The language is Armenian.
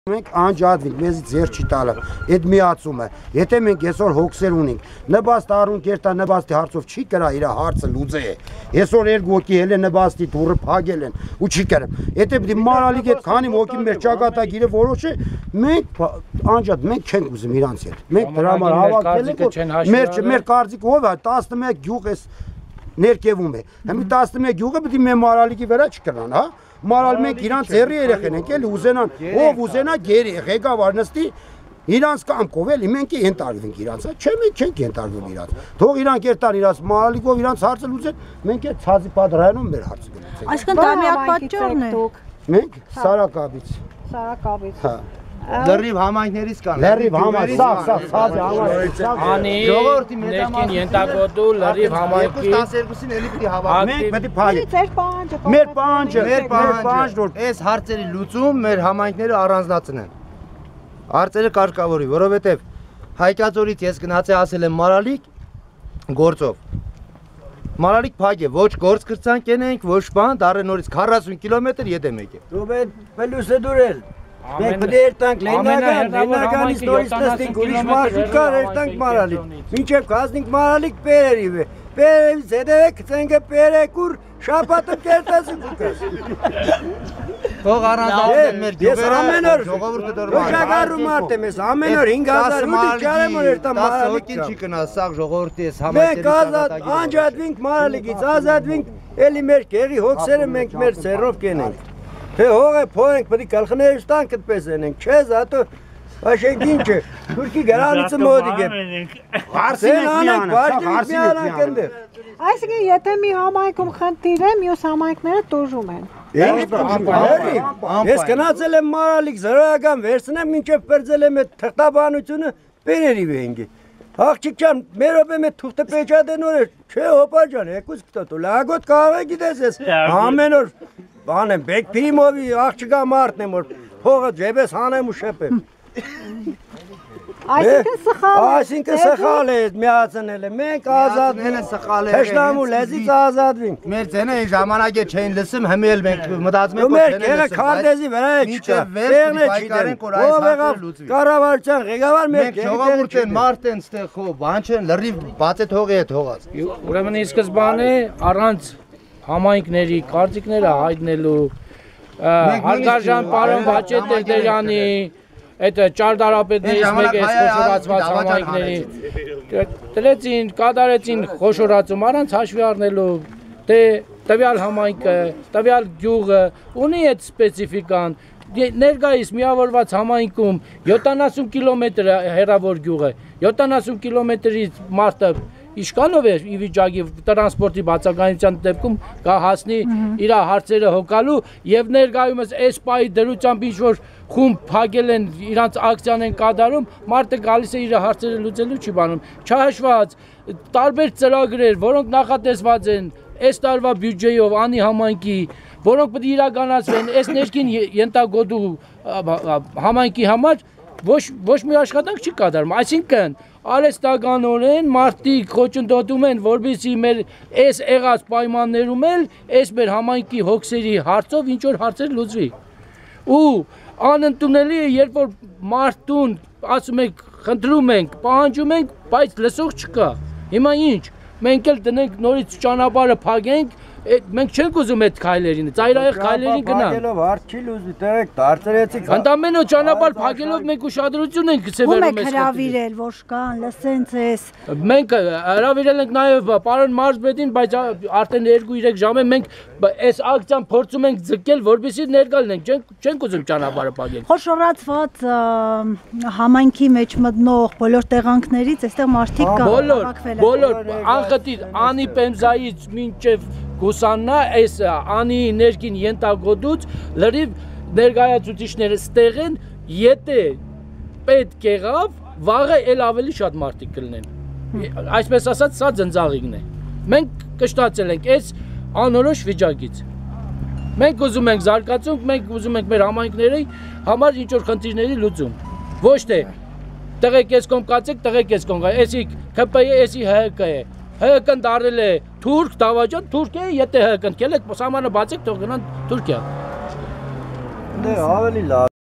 Մենք անջատվենք, մեզի ձեր չի տալը, այդ միացումը, եթե մենք այսօր հոգսեր ունենք, նպաստ առուն կերտա նպաստի հարցով չի կրա իր հարցը լուծե է, այսօր երկու հոգի էլ է նպաստի դուրը փագել են ու չի կրեմ, եթե պիտի մարալիկ այդ քանի հոգի մեր ճակատագիրը որոշ է, մենք անջատ, մենք չենք ուզում իրանց հետ, մենք դրա համար հավաքվել ենք, մեր կարծիքը ով է, 11 գյուղ էս ներկևում է, հիմի 11 գյուղը պիտի մեր մարալիկի վրա չկրան, հա? Մարալ մենք իրանց ձերի երեխեն ենք էլի ուզենան, ով ուզենա գերի ղեկավար նստի իրանց կամքով էլի մենք ենթարկվենք իրանց, չէ մենք չենք ենթարկվում իրանց, թող իրանք երթան իրանց մարալիկով իրանց հարցը լուծեն, մենք այդ ցածի պատրայանում մեր հարցը կլուծենք։ Այսինքն դա միակ պատճառն է։ Մենք Սարակաբից։ Սարակաբից։ Հա։ Լրիվ համայնքներից կան։ Լրիվ համայնք, սաղ համայնք։ Անի ներքին ենթակոտու լրիվ համայնքի 12-ին էլի պիտի հավաքվենք։ Մենք պետք է փալի։ Ձեր պահանջը։ Մեր պահանջը որ այս հարցերի լուծում մեր համայնքները առանձնացնեն։ Հարցերը կարգավորի, որովհետև Հայկածորից ես գնացի ասել եմ Մարալիկ գործով։ Մարալիկ փակ է, ոչ գործ կրծանք ենենք, ոչ բան, դառը նորից 40 կիլոմետր ետեմ եկե։ Դու պետք է դուրել։ Մենք պետք է երտանք Լեննականից նորից նստենք ուրիշ մարշրուտ կար երտանք Մարալիկ։ Մինչև կազնենք Մարալիկ Պերերիվ է։ Պերերից հետև է կծենգը Պերեկուր շապատը կերտասին կուկաս։ Թող առանձնացնեն մեր գյուղերը, ժողովուրդը դորմա։ Ոչագարու մարդ եմ ես, ամեն օր 5000 ռուբլի ճարեմ որ երտան Մարալիկ կա։ Չի կնա, սաղ ժողովրդի ես Մենք անջատվենք Մարալիկից, ազատվենք, էլի մեր կեղի հոգսերը մենք մեր սերով կենենք։ Թե հողը փորենք, պետք է գլխները ստանք այդպես ենենք, չես, հատո Աշենք ինչ է, թուրքի գրանիցը մոտիկ է։ Հարսին ենք, Այսինքն եթե մի համայնքում խնդիր է, մյուս համայնքները տուժում են։ Ես գնացել եմ Մարալիկ զրոյական վերցնեմ, մինչև պրձել եմ այդ թղթաբանությունը Պերերիվ էինք։ Աղջիկ ջան, մեր օպեմ է թուղթը պեչատեն օր է, չէ հոպա ջան, եկուս կտոտու, լագոտ կաղը գիտես ես, ամեն օր բան եմ, բեք պիրիմովի աղջիկա մարդն եմ, որ փողը ջեբես հանեմ ու շեպեմ։ Այսինքն սխալ է միացնել է, մենք ազատվել են սխալ է, հեշտամու լեզից ազատվինք։ Մեր ձենը այն ժամանակ է չէին լսում, հիմի էլ մենք մտածում ենք, որ չեն լսում։ Քարտեզի վրա է չկա, տեղն է չիտենք, ով եղավ կառավարության ղեկավար մենք ժողովուրդ են, մարդ են ստեղ խո, բան չեն, լրիվ բացե թողի է թողած։ Ուրեմն ի սկզբանե առանց համայնքների կարծիքները հայտնելու հարգարժան պարոն Վաչե Տերտերյանի այդ ճարտարապետներից մեկը խոշորացված համայնքների դրեցին, կատարեցին խոշորացում առանց հաշվի առնելու թե տվյալ համայնքը, տվյալ գյուղը ունի այդ սպეციფიკան ներկայիս միավորված համայնքում 70 կիլոմետր հեռավոր գյուղը 70 կիլոմետրից մարդը Իշկանով է ի վիճակի տրանսպորտի բացակայության դեպքում կհասնի իր հարցերը հոգալու եւ ներկայումս այս պահի դրությամբ ինչ որ խումբ փակել են իրանց ակցիան են կատարում մարդը գալիս է իր հարցերը լուծելու չի բանում չհաշված տարբեր ծրագրեր որոնք նախատեսված են այս տարվա բյուջեով անի համայնքի որոնք պետք է իրականացվեն այս ներքին ենթագոտու համայնքի համար ոչ մի աշխատանք չի կատարում այսինքն արհեստականորեն մարդիկ խոչընդոտում են որպեսզի մեր այս եղած պայմաններում էլ այս մեր համայնքի հոգսերի հարցով ինչ որ հարցեր լուծվի ու անընդունելի է երբ որ մարդուն ասում ենք խնդրում ենք պահանջում ենք բայց լսող չկա հիմա ինչ մենք էլ դնենք նորից ճանապարհը փակենք մենք չենք ուզում այդ քայլերին, ծայրահեղ քայլերին գնանք։ Փակելով հարց չի լուծի, տերեք դարձրեցիք։ Ընդամենը ճանապարհ փակելով մենք ուշադրություն ենք սևեռում ես։ Ո՞ւմ եք հրավիրել, որ կան, լսեն ձեզ։ Մենք հրավիրել ենք նաև պարոն մարզպետին, բայց արդեն 2-3 ժամ է մենք այս ակցիան փորձում ենք ձգել, որպեսզի ներկա լինենք, չենք ուզում ճանապարհը փակել։ Խոշորացված համայնքի մեջ մտնող բոլոր տեղանքներից այստեղ մարդիկ կան։ Բոլոր անխտիր անի պեմզայից մինչև Գուսաննա այս անի ներքին ենթագոտուց լրիվ ներկայացուցիչները ստեղ են, եթե պետք եղավ, վաղը էլ ավելի շատ մարդիկ կլինեն։ Այսպես ասած, սա ձնձաղիկն է։ Մենք կշտացել ենք այս անորոշ վիճակից։ Մենք ուզում ենք զարգացում, մենք ուզում ենք մեր համայնքների համար ինչ որ խնդիրների լուծում։ Ոչ թե տղեկ ես կողմ կացեք, տղեկ ես կողմ, էսի ԿՊ-ը, էսի ՀՀԿ է։ ՀՀԿ-ն դարել է թուրք, դավաճան, թուրք է, եթե ՀՀԿ-ն կել եք, սահմանը բացեք, թող գնան Թուրքիա։ Դե ավելի լավ